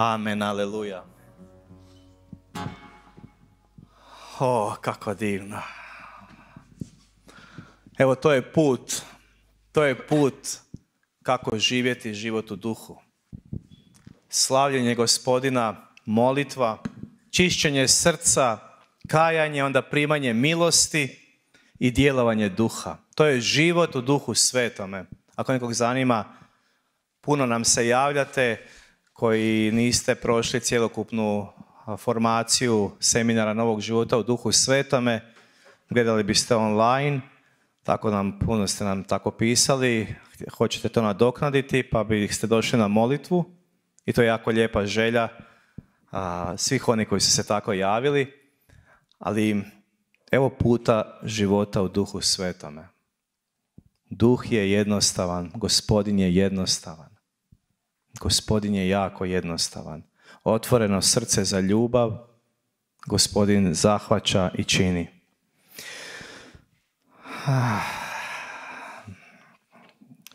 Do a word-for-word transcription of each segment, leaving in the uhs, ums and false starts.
Amen, aleluja. O, kako divno. Evo, to je put. To je put kako živjeti život u duhu. Slavljenje Gospodina, molitva, čišćenje srca, kajanje, onda primanje milosti i djelovanje duha. To je život u duhu svetome. Ako nekog zanima, puno nam se javljate koji niste prošli cjelokupnu formaciju seminara Novog života u duhu svetome, gledali biste online, tako nam, puno ste nam tako pisali, hoćete to nadoknaditi, pa biste došli na molitvu i to je jako lijepa želja a, svih oni koji su se tako javili, ali evo puta života u duhu svetome. Duh je jednostavan, Gospodin je jednostavan. Gospodin je jako jednostavan. Otvoreno srce za ljubav, Gospodin zahvaća i čini.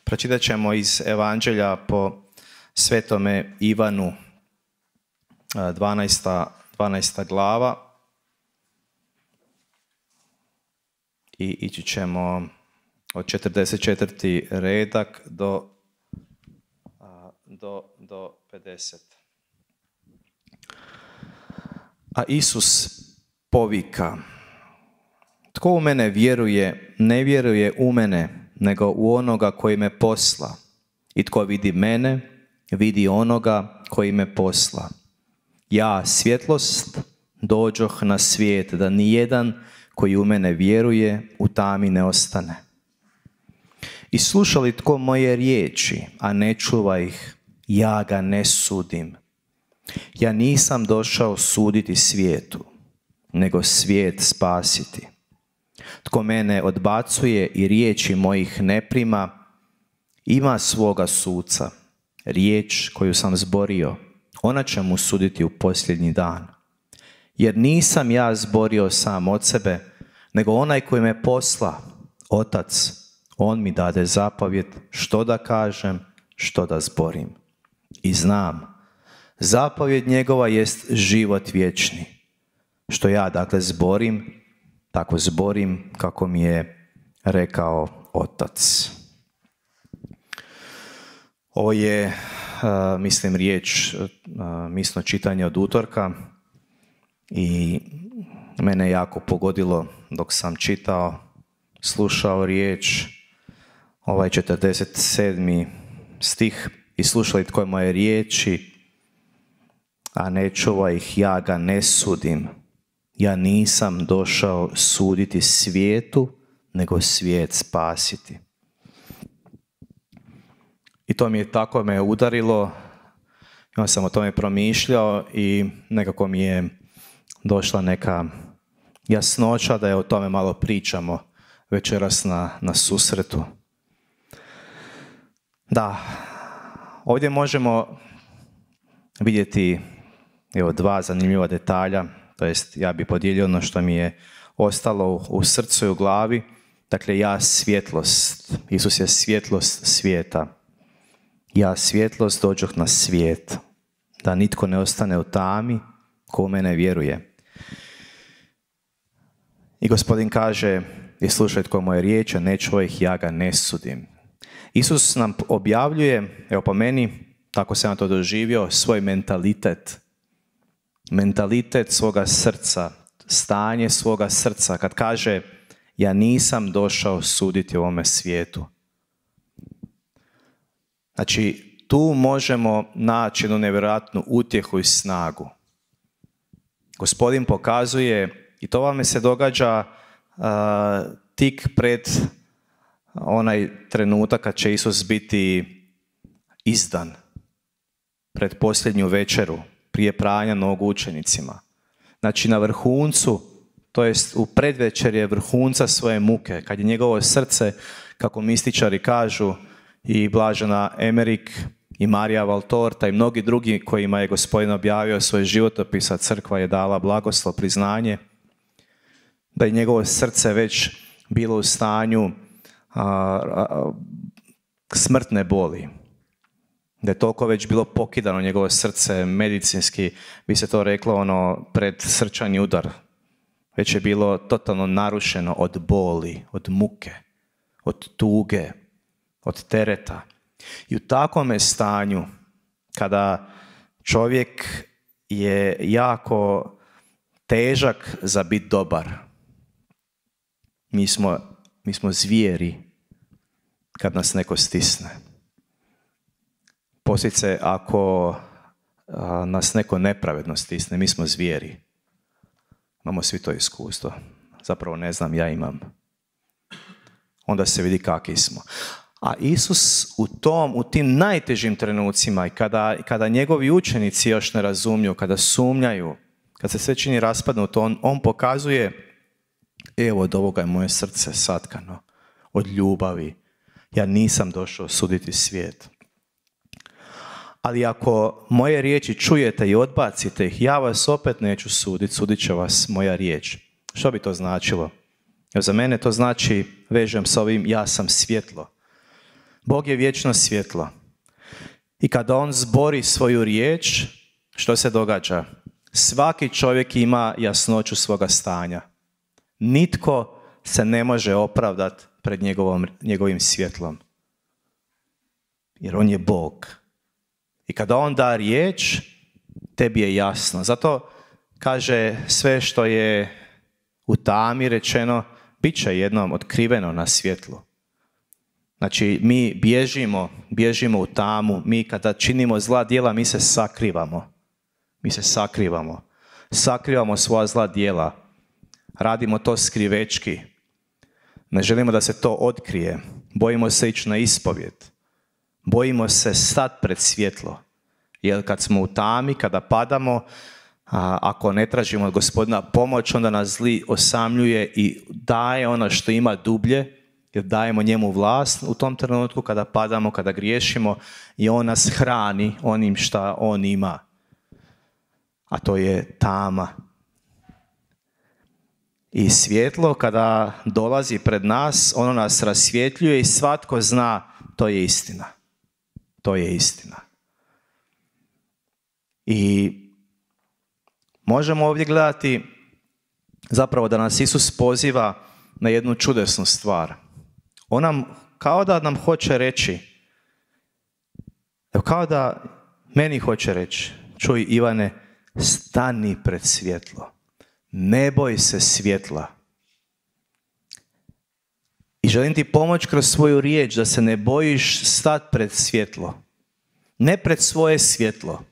Pročitat ćemo iz Evanđelja po Svetome Ivanu, dvanaesta, dvanaesta glava. I ići ćemo od četrdeset četvrti redak do, do, do pedeset. A Isus povika: tko u mene vjeruje, ne vjeruje u mene, nego u onoga koji me posla. I tko vidi mene, vidi onoga koji me posla. Ja, svjetlost, dođoh na svijet, da nijedan koji u mene vjeruje u tami ne ostane. I sluša li tko moje riječi, a ne čuva ih, ja ga ne sudim. Ja nisam došao suditi svijetu, nego svijet spasiti. Tko mene odbacuje i riječi mojih ne prima, ima svoga suca. Riječ koju sam zborio, ona će mu suditi u posljednji dan. Jer nisam ja zborio sam od sebe, nego onaj koji me posla, Otac, on mi dade zapovjed što da kažem, što da zborim. I znam, zapovjed njegova jest život vječni. Što ja dakle zborim, tako zborim kako mi je rekao Otac. Ovo je, uh, mislim, riječ, uh, misno čitanje od utorka i mene jako pogodilo dok sam čitao, slušao riječ, ovaj četrdeset sedmi stih: i slušali tko je moje riječi, a ne čuva ih, ja ga ne sudim. Ja nisam došao suditi svijetu, nego svijet spasiti. I to mi je tako me udarilo, ja sam o tome promišljao i nekako mi je došla neka jasnoća da je o tome malo pričamo večeras na, na susretu. Da, ovdje možemo vidjeti evo, dva zanimljiva detalja, to jest ja bih podijelio ono što mi je ostalo u, u srcu i u glavi. Dakle, ja svjetlost, Isus je svjetlost svijeta. Ja svjetlost dođoh na svijet, da nitko ne ostane u tami ko u mene vjeruje. I Gospodin kaže: i slušaj tko moje riječi, ne čuva ih, ja ga ne sudim. Isus nam objavljuje, evo po meni, tako sam ja to doživio, svoj mentalitet. Mentalitet svoga srca, stanje svoga srca, kad kaže: ja nisam došao suditi ovome svijetu. Znači, tu možemo naći jednu nevjerojatnu utjehu i snagu. Gospodin pokazuje, i to vam se događa uh, tik pred onaj trenutak kad će Isus biti izdan, pred posljednju večeru, prije pranja nogu učenicima. Znači, na vrhuncu, to jest u predvečerje vrhunca svoje muke, kad je njegovo srce, kako mističari kažu, i Blažena Emerik, i Marija Valtorta, i mnogi drugi kojima je Gospodin objavio svoj životopis, a crkva je dala blagoslov, priznanje, da je njegovo srce već bilo u stanju a, a, smrtne boli. Da je toliko već bilo pokidano njegovo srce, medicinski bi se to reklo ono pred srčani udar. Već je bilo totalno narušeno od boli, od muke, od tuge, od tereta. I u takvome stanju, kada čovjek je jako težak za biti dobar, mi smo, mi smo zvijeri kad nas neko stisne. Poslije, ako a, nas neko nepravedno stisne, mi smo zvijeri. Imamo svi to iskustvo. Zapravo ne znam, ja imam. Onda se vidi kakvi smo. A Isus u tom, u tim najtežim trenucima i kada, kada njegovi učenici još ne razumiju, kada sumnjaju, kad se sve čini raspadnuto, on, on pokazuje, evo od ovoga je moje srce satkano, od ljubavi. Ja nisam došao suditi svijet. Ali ako moje riječi čujete i odbacite ih, ja vas opet neću suditi, sudit će vas moja riječ. Što bi to značilo? Jer za mene to znači, vežem s ovim, ja sam svjetlo. Bog je vječno svjetlo. I kada on zbori svoju riječ, što se događa? Svaki čovjek ima jasnoću svoga stanja. Nitko se ne može opravdati pred njegovom, njegovim svjetlom. Jer on je Bog. I kada on da riječ, tebi je jasno. Zato kaže sve što je u tami rečeno, bit će jednom otkriveno na svjetlu. Znači, mi bježimo, bježimo u tamu, mi kada činimo zla djela, mi se sakrivamo. Mi se sakrivamo. Sakrivamo svoja zla djela. Radimo to skrivečki. Ne želimo da se to otkrije. Bojimo se ići na ispovjed. Bojimo se stati pred svjetlo. Jer kad smo u tami, kada padamo, a, ako ne tražimo od Gospodina pomoć, onda nas zli osamljuje i daje ono što ima dublje, jer dajemo njemu vlast u tom trenutku kada padamo, kada griješimo i on nas hrani onim šta on ima. A to je tama. I svjetlo kada dolazi pred nas, ono nas rasvjetljuje i svatko zna, to je istina. To je istina. I možemo ovdje gledati zapravo da nas Isus poziva na jednu čudesnu stvar. On nam, kao da nam hoće reći, kao da meni hoće reći, čuj Ivane, stani pred svjetlo. Ne boj se svjetla. I želim ti pomoći kroz svoju riječ da se ne bojiš stati pred svjetlo. Ne pred svoje svjetlo.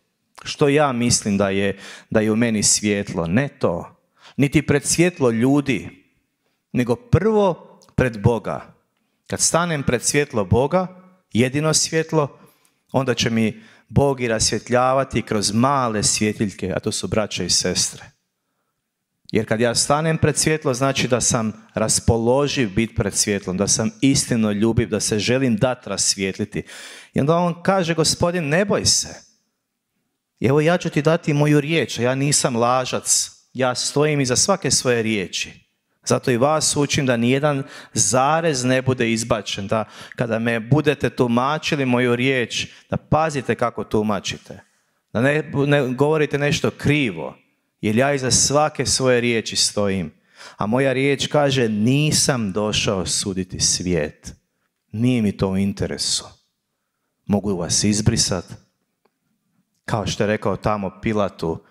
Što ja mislim da je, da je u meni svjetlo. Ne to. Niti pred svjetlo ljudi. Nego prvo pred Boga. Kad stanem pred svjetlo Boga, jedino svjetlo, onda će mi Bog i rasvjetljavati kroz male svjetiljke, a to su braća i sestre. Jer kad ja stanem pred svjetlo, znači da sam raspoloživ biti pred svjetlom, da sam istino ljubiv, da se želim dati rasvijetliti. I onda on kaže, Gospodin, ne boj se. Evo ja ću ti dati moju riječ, a ja nisam lažac. Ja stojim iza svake svoje riječi. Zato i vas učim da nijedan zarez ne bude izbačen. Da kada me budete tumačili moju riječ, da pazite kako tumačite. Da ne, ne govorite nešto krivo. Jer ja iza svake svoje riječi stojim. A moja riječ kaže, nisam došao suditi svijet. Nije mi to u interesu. Mogu vas izbrisati. Kao što je rekao tamo Pilatu,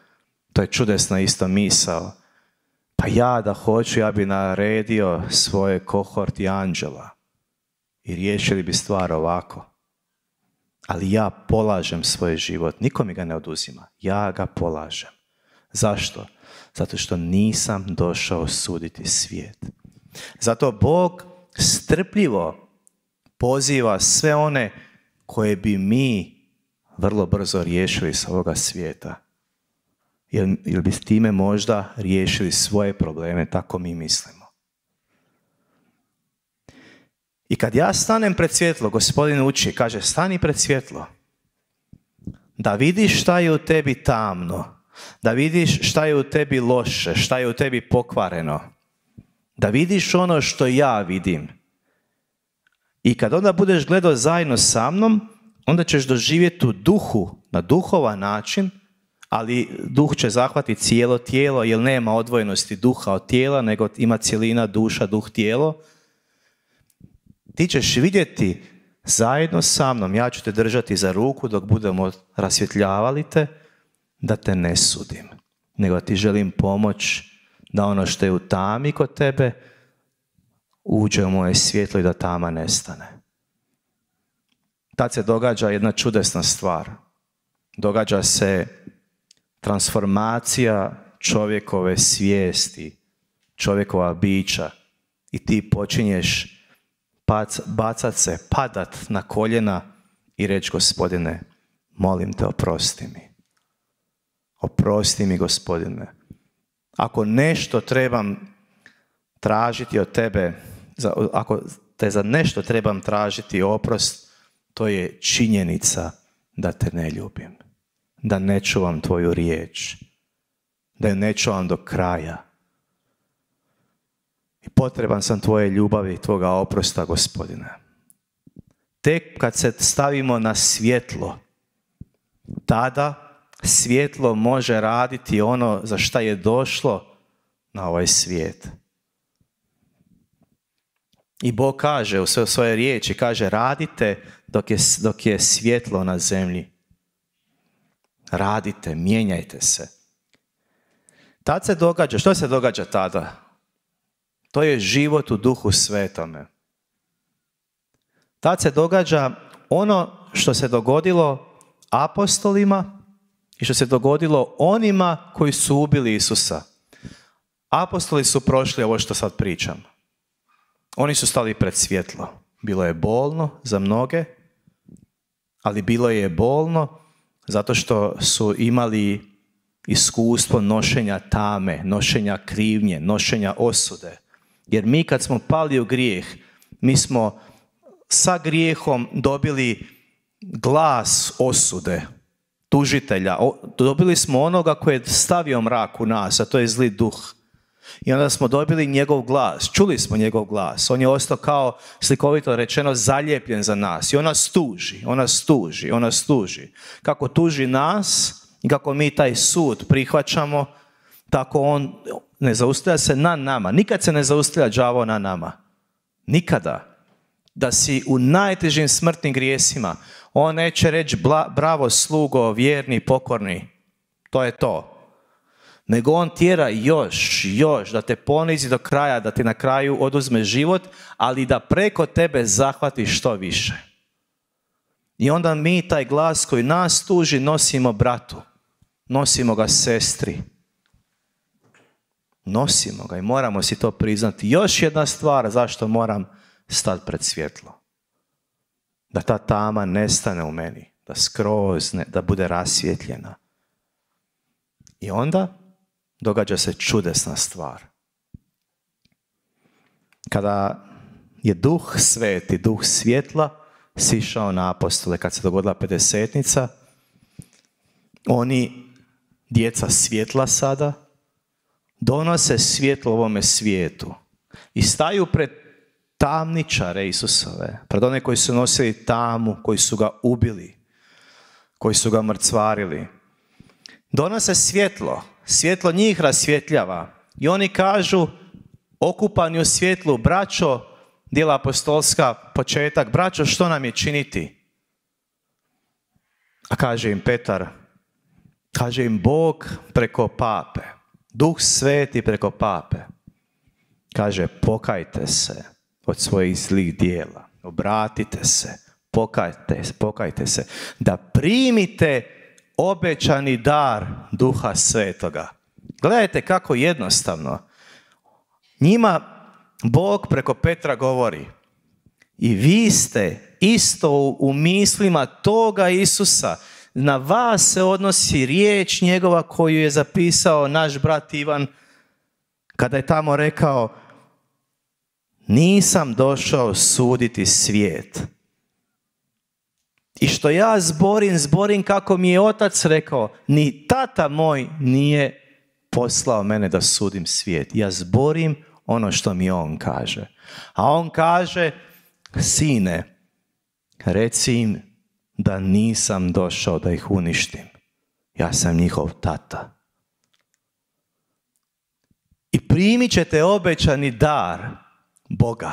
to je čudesna isto misao. Pa ja da hoću, ja bi naredio svoje kohorti anđela. I riješili bi stvar ovako. Ali ja polažem svoj život. Niko mi ga ne oduzima. Ja ga polažem. Zašto? Zato što nisam došao suditi svijet. Zato Bog strpljivo poziva sve one koje bi mi vrlo brzo riješili s ovoga svijeta. Jer, jer bi s time možda riješili svoje probleme, tako mi mislimo. I kad ja stanem pred svjetlo, Gospodin uči, kaže, stani pred svjetlo. Da vidiš šta je u tebi tamno. Da vidiš šta je u tebi loše, šta je u tebi pokvareno. Da vidiš ono što ja vidim. I kad onda budeš gledao zajedno sa mnom, onda ćeš doživjeti u duhu, na duhovan način, ali duh će zahvatiti cijelo tijelo, jer nema odvojenosti duha od tijela, nego ima cjelina duša, duh, tijelo. Ti ćeš vidjeti zajedno sa mnom, ja ću te držati za ruku dok budemo rasvjetljavali te, da te ne sudim, nego ti želim pomoć da ono što je u tami kod tebe uđe u moje svjetlo i da tama nestane. Tad se događa jedna čudesna stvar. Događa se transformacija čovjekove svijesti, čovjekova bića i ti počinješ bacat se, padat na koljena i reći: Gospodine, molim te, oprosti mi. Oprosti mi, Gospodine. Ako nešto trebam tražiti od tebe, ako te za nešto trebam tražiti oprost, to je činjenica da te ne ljubim, da ne čuvam tvoju riječ, da je ne čuvam do kraja. I potreban sam tvoje ljubavi i tvoga oprosta, Gospodine. Tek kad se stavimo na svjetlo, tada svjetlo može raditi ono za šta je došlo na ovaj svijet. I Bog kaže u svoje riječi, kaže: radite dok je, dok je svjetlo na zemlji. Radite, mijenjajte se. Tad se događa, što se događa tada? To je život u Duhu Svetome. Tad se događa ono što se dogodilo apostolima i što se dogodilo onima koji su ubili Isusa. Apostoli su prošli ovo što sad pričam. Oni su stali pred svjetlo. Bilo je bolno za mnoge, ali bilo je bolno zato što su imali iskustvo nošenja tame, nošenja krivnje, nošenja osude. Jer mi kad smo pali u grijeh, mi smo sa grijehom dobili glas osude, tužitelja. Dobili smo onoga koji je stavio mrak u nas, a to je zli duh. I onda smo dobili njegov glas, čuli smo njegov glas. On je ostao, kao slikovito rečeno, zaljepljen za nas. I on nas tuži, on nas tuži, on nas tuži. Kako tuži nas i kako mi taj sud prihvaćamo, tako on ne zaustavlja se na nama. Nikad se ne zaustavlja đavo na nama. Nikada. Da si u najtežim smrtnim grijesima, on neće reći: bravo slugo, vjerni, pokorni. To je to. Nego on tjera još, još, da te ponizi do kraja, da ti na kraju oduzme život, ali da preko tebe zahvati što više. I onda mi taj glas koji nas tuži nosimo bratu, nosimo ga sestri. Nosimo ga i moramo si to priznati. Još jedna stvar zašto moram stati pred svjetlo. Da ta tama nestane u meni, da skroz, ne, da bude rasvjetljena. I onda događa se čudesna stvar. Kada je Duh Sveti, Duh svjetla, sišao na apostole, kad se dogodila pedesetnica, oni, djeca svjetla sada, donose svjetlo ovome svijetu i staju pred tamničare Isusove, pred one koji su nosili tamu, koji su ga ubili, koji su ga mrcvarili. Donose svjetlo, svjetlo njih rasvjetljava i oni kažu, okupani u svjetlu: braćo, djela apostolska, početak, braćo, što nam je činiti? A kaže im Petar, kaže im Bog preko pape, Duh Sveti preko pape, kaže: pokajte se od svojih zlih dijela, obratite se, pokajte, pokajte se, da primite obećani dar Duha Svetoga. Gledajte kako jednostavno. Njima Bog preko Petra govori: i vi ste isto u mislima toga Isusa, na vas se odnosi riječ njegova koju je zapisao naš brat Ivan, kada je tamo rekao: nisam došao suditi svijet. I što ja zborim, zborim kako mi je otac rekao. Ni tata moj nije poslao mene da sudim svijet. Ja zborim ono što mi on kaže. A on kaže: sine, reci im da nisam došao da ih uništim. Ja sam njihov tata. I primit ćete obećani dar Boga,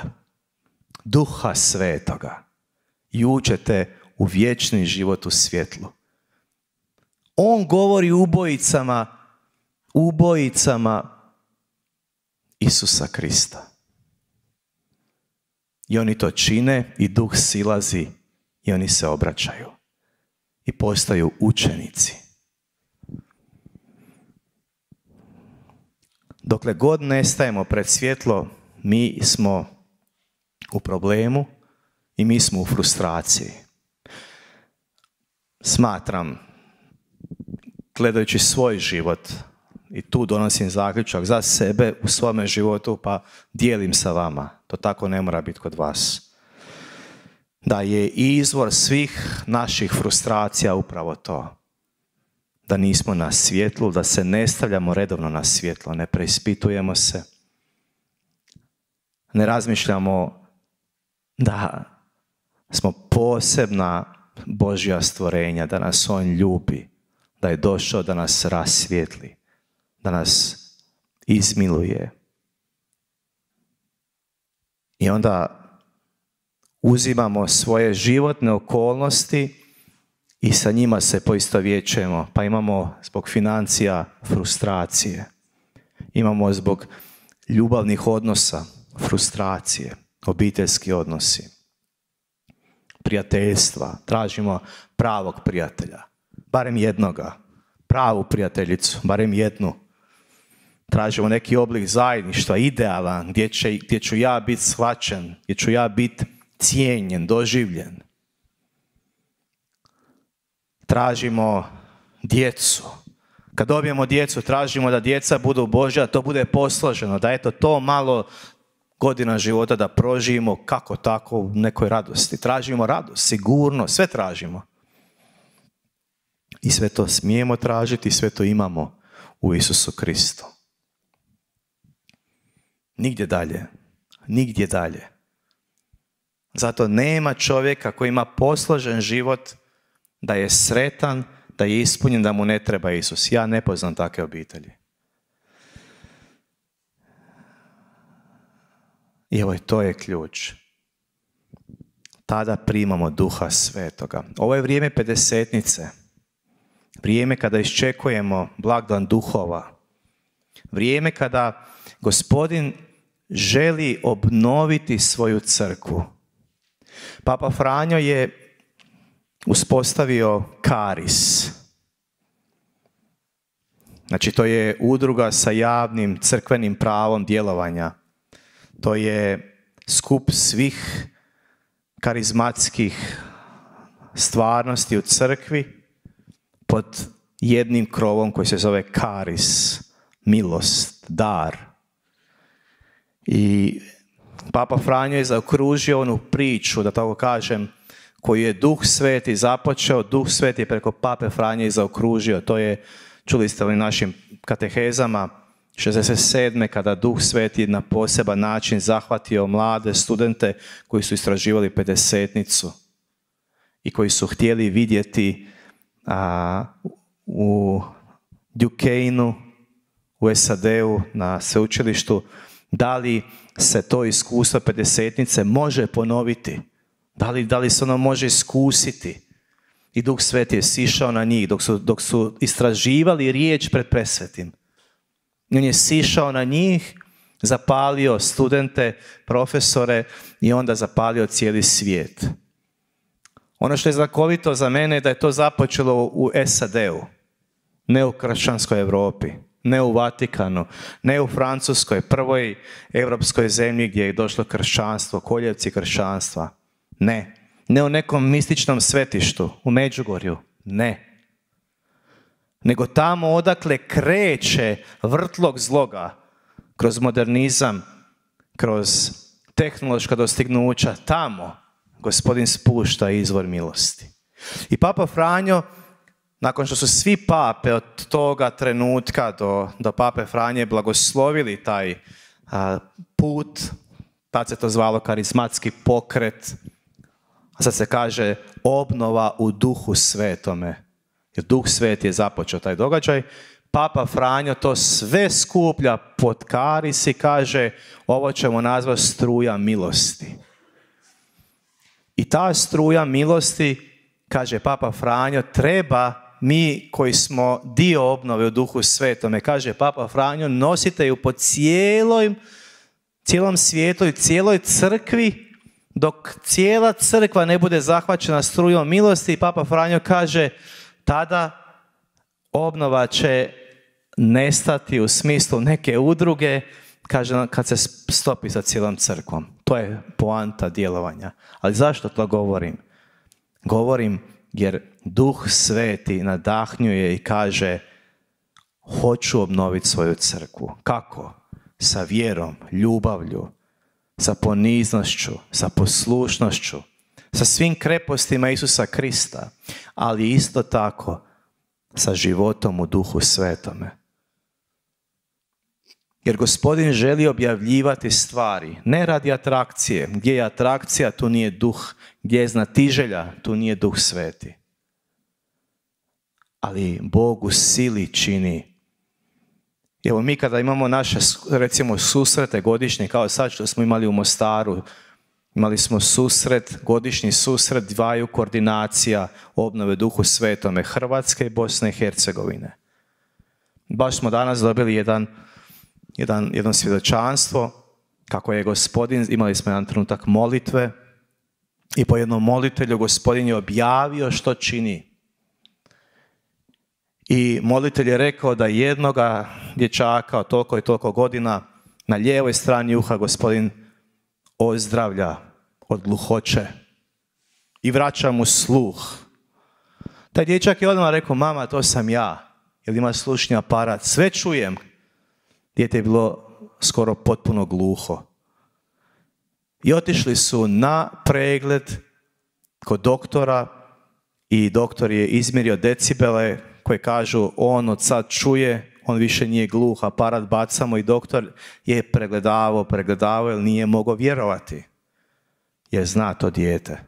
Duha Svetoga. I uđete u vječni život u svjetlu. On govori ubojicama, ubojicama Isusa Krista. I oni to čine i Duh silazi i oni se obraćaju. I postaju učenici. Dokle god ne stajemo pred svjetlo, mi smo u problemu i mi smo u frustraciji. Smatram, gledajući svoj život, i tu donosim zaključak za sebe u svome životu, pa dijelim sa vama. To tako ne mora biti kod vas. Da je izvor svih naših frustracija upravo to. Da nismo na svjetlu, da se ne stavljamo redovno na svjetlo, ne preispitujemo se. Ne razmišljamo da smo posebna Božja stvorenja, da nas On ljubi, da je došao da nas rasvijetli, da nas izmiluje. I onda uzimamo svoje životne okolnosti i sa njima se poistovjećujemo. Pa imamo zbog financija frustracije. Imamo zbog ljubavnih odnosa frustracije, obiteljski odnosi, prijateljstva. Tražimo pravog prijatelja, barem jednoga, pravu prijateljicu, barem jednu. Tražimo neki oblik zajedništva, idealan, gdje, će, gdje ću ja biti shvaćen, gdje ću ja biti cijenjen, doživljen. Tražimo djecu. Kad dobijemo djecu, tražimo da djeca budu Božja, da to bude posloženo, da eto to malo godina života da proživimo kako tako u nekoj radosti. Tražimo radost, sigurno, sve tražimo. I sve to smijemo tražiti, sve to imamo u Isusu Kristu. Nigdje dalje. Nigdje dalje. Zato nema čovjeka koji ima posložen život, da je sretan, da je ispunjen, da mu ne treba Isus. Ja ne poznam takve obitelji. I evo, to je ključ. Tada primamo Duha Svetoga. Ovo je vrijeme pedesetnice. Vrijeme kada iščekujemo blagdan duhova. Vrijeme kada Gospodin želi obnoviti svoju crkvu. Papa Franjo je uspostavio Karis. Znači, to je udruga sa javnim crkvenim pravom djelovanja. To je skup svih karizmatskih stvarnosti u crkvi pod jednim krovom koji se zove Karis, milost, dar. I Papa Franjo je zaokružio onu priču, da tako kažem, koju je Duh Sveti započeo, Duh Sveti je preko Pape Franje zaokružio. To je, čuli ste u našim katehezama, šezdeset sedme kada Duh Sveti na poseban način zahvatio mlade studente koji su istraživali pedesetnicu i koji su htjeli vidjeti a, u Duquesneu, u S A D-u, na sveučilištu, da li se to iskustvo pedesetnice može ponoviti. Da li, da li se ono može iskusiti? I Duh Sveti je sišao na njih dok su, dok su istraživali riječ pred presvetim. On je sišao na njih, zapalio studente, profesore i onda zapalio cijeli svijet. Ono što je znakovito za mene je da je to započelo u S A D-u, ne u kršćanskoj Europi, ne u Vatikanu, ne u Francuskoj, prvoj europskoj zemlji gdje je došlo kršćanstvo, koljevci kršćanstva. Ne. Ne u nekom mističnom svetištu, u Međugorju. Ne. Nego tamo odakle kreće vrtlog zloga, kroz modernizam, kroz tehnološka dostignuća, tamo Gospodin spušta izvor milosti. I Papa Franjo, nakon što su svi pape od toga trenutka do, do Pape Franje blagoslovili taj a, put, tad se to zvalo karizmatski pokret, A sad se kaže obnova u Duhu Svetome. Jer Duh Sveti je započeo taj događaj. Papa Franjo to sve skuplja pod karis i kaže ovo ćemo nazvati struja milosti. I ta struja milosti, kaže Papa Franjo, treba mi koji smo dio obnove u Duhu Svetome, kaže Papa Franjo, nosite ju po cijeloj, cijelom svijetu i cijeloj crkvi, dok cijela crkva ne bude zahvaćena strujom milosti. I Papa Franjo kaže, tada obnova će nestati u smislu neke udruge, kaže, kad se stopi sa cijelom crkvom. To je poanta djelovanja. Ali zašto to govorim? Govorim jer Duh Sveti nadahnjuje i kaže hoću obnoviti svoju crkvu. Kako? Sa vjerom, ljubavlju, sa poniznošću, sa poslušnošću, sa svim krepostima Isusa Krista, ali isto tako sa životom u Duhu Svetome. Jer Gospodin želi objavljivati stvari, ne radi atrakcije. Gdje je atrakcija, tu nije Duh. Gdje je znatiželja, tu nije Duh Sveti. Ali Bog u sili čini. Evo mi kada imamo naše, recimo, susrete godišnje, kao sad što smo imali u Mostaru, imali smo susret, godišnji susret dvaju koordinacija obnove Duhu Svetome, Hrvatske i Bosne i Hercegovine. Baš smo danas dobili jedan, jedan, jedno svjedočanstvo kako je Gospodin, imali smo jedan trenutak molitve i po jednom molitelju Gospodin je objavio što čini. I molitelj je rekao da jednoga dječaka od toliko i toliko godina na lijevoj strani uha Gospodin ozdravlja od gluhoće i vraća mu sluh. Taj dječak je odmah rekao, mama, to sam ja, jer ima slušni aparat, sve čujem. Dijete je bilo skoro potpuno gluho. I otišli su na pregled kod doktora i doktor je izmjerio decibele koje kažu on od sad čuje, on više nije gluh, aparat bacamo i doktor je pregledavao, pregledavao jer nije mogao vjerovati. Jer zna to dijete.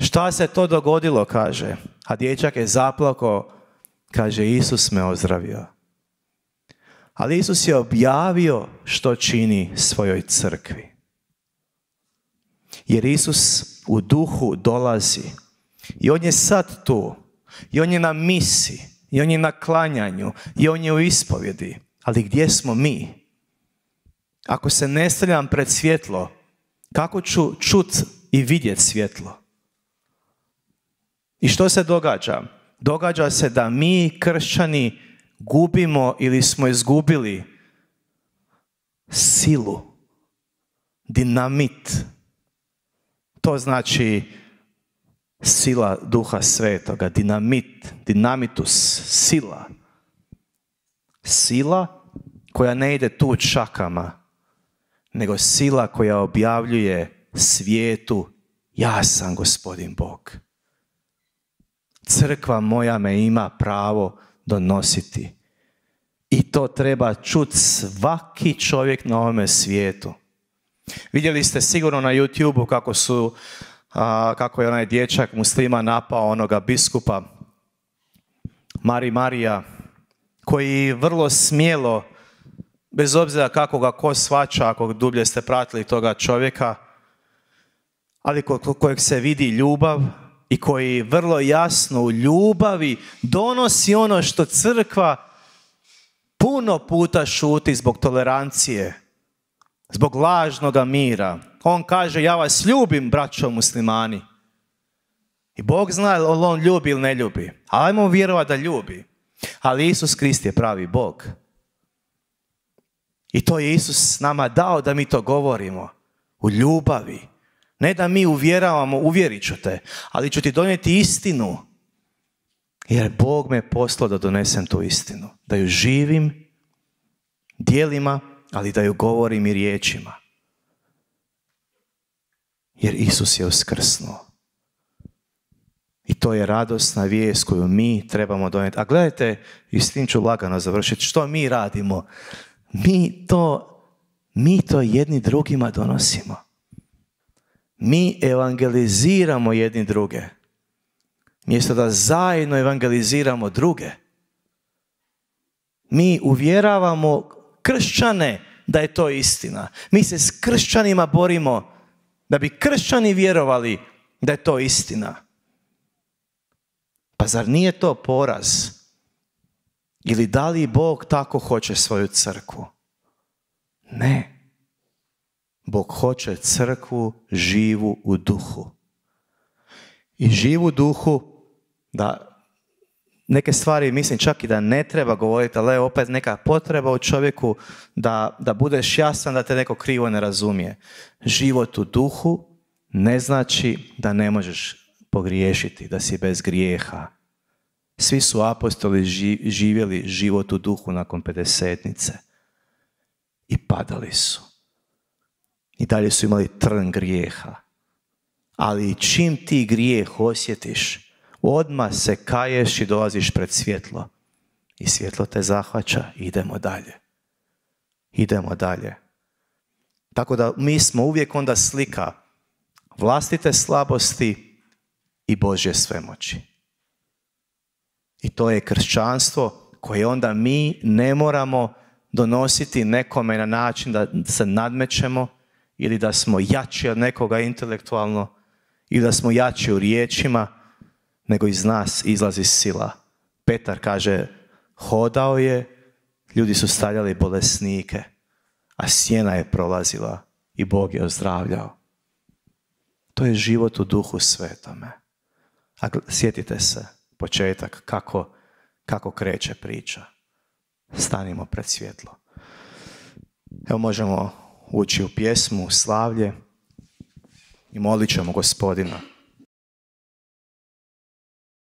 Šta se to dogodilo, kaže. A dječak je zaplakao, kaže Isus me ozdravio. Ali Isus je objavio što čini svojoj crkvi. Jer Isus u duhu dolazi. I on je sad tu. I on je na misi. I on je na klanjanju. I on je u ispovjedi. Ali gdje smo mi? Ako se ne stavljam pred svjetlo, kako ću čut i vidjet svjetlo? I što se događa? Događa se da mi, kršćani, gubimo ili smo izgubili silu, dinamit. To znači sila Duha Svetoga, dinamit, dinamitus, sila. Sila koja ne ide tu čakama, nego sila koja objavljuje svijetu, ja sam Gospodin Bog. Crkva moja me ima pravo donositi. I to treba čuti svaki čovjek na ovome svijetu. Vidjeli ste sigurno na YouTubeu kako su, a, kako je onaj dječak muslima napao onoga biskupa Mari Marija, koji vrlo smjelo, bez obzira kako ga ko shvaća, ako dublje ste pratili toga čovjeka, ali kod kojeg se vidi ljubav i koji vrlo jasno u ljubavi donosi ono što crkva puno puta šuti zbog tolerancije, zbog lažnoga mira. On kaže, ja vas ljubim, braćo muslimani. I Bog zna li on ljubi ili ne ljubi. Ali ajmo vjerovati da ljubi. Ali Isus Krist je pravi Bog. I to je Isus nama dao da mi to govorimo. U ljubavi. Ne da mi uvjeravamo, uvjerit ću te, ali ću ti donijeti istinu. Jer Bog me poslao da donesem tu istinu. Da ju živim djelima, ali da ju govorim i riječima. Jer Isus je uskrsnuo. I to je radosna vijest koju mi trebamo donijeti. A gledajte, i s tim ću lagano završiti, što mi radimo? Mi to, mi to jedni drugima donosimo. Mi evangeliziramo jedni druge. Mjesto da zajedno evangeliziramo druge. Mi uvjeravamo kršćane da je to istina. Mi se s kršćanima borimo da bi kršćani vjerovali da je to istina. Pa zar nije to poraz? Ili da li Bog tako hoće svoju crkvu? Ne. Bog hoće crkvu živu u duhu. I živu duhu, da neke stvari mislim čak i da ne treba govoriti, ali je opet neka potreba u čovjeku da, da budeš jasan, da te neko krivo ne razumije. Život u duhu ne znači da ne možeš pogriješiti, da si bez grijeha. Svi su apostoli živjeli život u duhu nakon pedesetnice i padali su. I dalje su imali trn grijeha. Ali čim ti grijeh osjetiš, odmah se kaješ i dolaziš pred svjetlo. I svjetlo te zahvaća, idemo dalje. Idemo dalje. Tako da mi smo uvijek onda slika vlastite slabosti i Božje svemoći. I to je kršćanstvo koje onda mi ne moramo donositi nekome na način da se nadmećemo ili da smo jači od nekoga intelektualno ili da smo jači u riječima, nego iz nas izlazi sila. Petar kaže, hodao je, ljudi su stavljali bolesnike, a sjena je prolazila i Bog je ozdravljao. To je život u Duhu Svetome. A sjetite se, početak, kako, kako kreće priča. Stanimo pred svjetlo. Evo možemo ući u pjesmu, u slavlje i molit ćemo Gospodina.